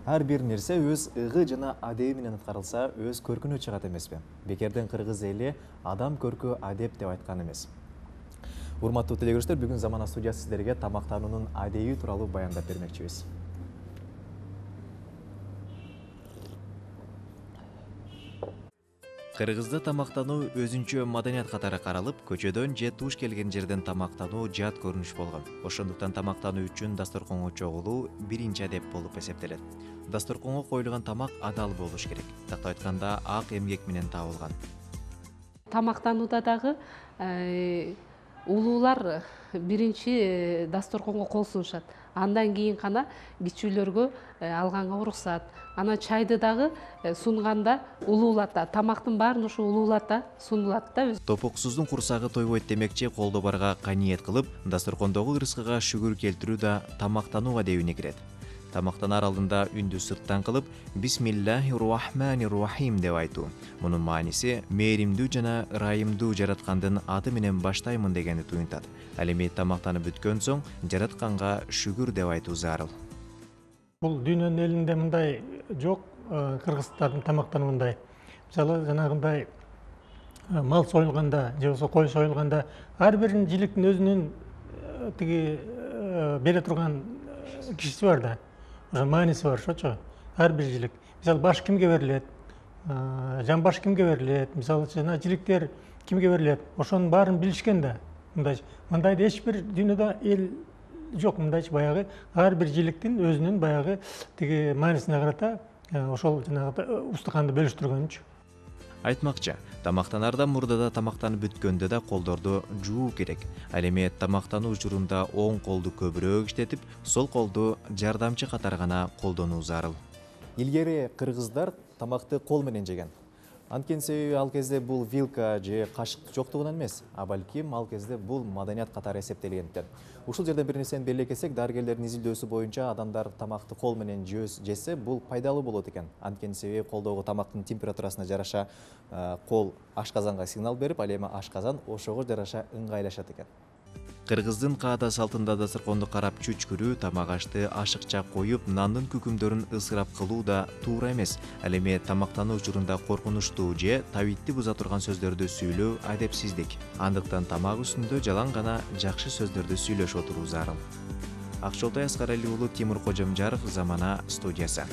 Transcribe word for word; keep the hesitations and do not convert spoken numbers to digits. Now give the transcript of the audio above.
Ар бир нерсе өз ыгы жана адеби менен аткарылса, өз көркүнө чыгат эмеспи? Бекерден кыргыз эли адам көркү адеп деп айткан эмес. Урматтуу телекөрүүчүлөр, бүгүн Замана студиясы сиздерге тамактануунун адеби тууралуу баяндап бермекчибиз. Кыргызда тамактануу өзүнчө маданият катары каралып, көчөдөн же туш келген жерден тамактануу жат көрүнүш болгон. Ошондуктан тамактануу үчүн дасторконго чогулуу биринчи адеп болуп эсептелет. Дасторконго коюлган тамак адал болуш керек. Тактап айтканда, ак эмгек менен табылган. Тамактанууда дагы улуулар биринчи дасторконго кол сунушат. Андан кийин гана кичүүлөргө алганга уруксат. Анан чайды дагы сунганда улуулата, тамактын баарын ушу улуулата сунулат да. Топоксуздун курсагы тойбойт демекчи, колдо барга каниет кылып, дасторкондогу ырыскыга шүгүр келтирүү да тамактануу адебине кирет. Тамактанаар алдында үндү сырттан кылып, Бисмиллахир-рахманир-рахим деп айтуу. Мунун мааниси мээримдүү жана ырайымдуу жараткандын аты менен баштаймын дегенди туюнтат. Ал эми тамактанып бүткөн соң жаратканга шүгүр деп айтуу зарыл. Бул дүйнөнүн элинде мындай жок, кыргыздардын тамактануундай. Мисалы, жанагындай мал союлганда же болбосо кой союлганда ар бир жиликтин өзүнүн тиги бере турган кишиси бар да. Ошо мааниси бар, ошочу. Ар бир жилик. Мисалы, баш кимге берилет? Жан баш кимге берилет? Мисалы, жана жиликтер кимге берилет? Ошонун баарын билишкен да. Мындайчы. Мындайды эч бир дүйнөдө эл жок, мындайчы баягы ар бир жиликтин өзүнүн баягы тиги маанисине карата ошол жанагы устуканды бөлүштүргөнчү. Айтмакчы, тамактанаардан мурда да тамактанып бүткөндө да колдорду жуу керек. Ал эми тамактануу учурунда оң колду көбүрөөк иштетип, сол колду жардамчы катары гана колдонуу зарыл. Илгери кыргыздар тамакты кол менен жеген. Анткени себеби ал кезде бул вилка же кашык жоктугунан эмес, а балким ал кезде бул маданият катары эсептелгендиктен. Ушул жерден бир нерсени белгилесек, дарыгерлердин изилдөөсү боюнча адамдар тамакты кол менен жесе, бул пайдалуу болот экен. Анткени себеби колдогу тамактын температурасына жараша кол ашказанга сигнал берип, ал эми ашказан ошого жараша ыңгайлашат экен. Кыргыздын каада салтында дасторконду карап чүчкүрүү, тамак ашты ашыкча коюп, нандын күкүмдөрүн ысырап кылуу да туура эмес. Ал эми тамактануу учурунда коркунучтуу же табитти буза турган сөздөрдү сүйлөө адепсиздик. Андыктан тамак үстүндө жалаң гана жакшы сөздөрдү сүйлөшүп отуруу зарыл. Акчолтой Аскарали уулу, Тимур Кожомжаров, Замана студиясы.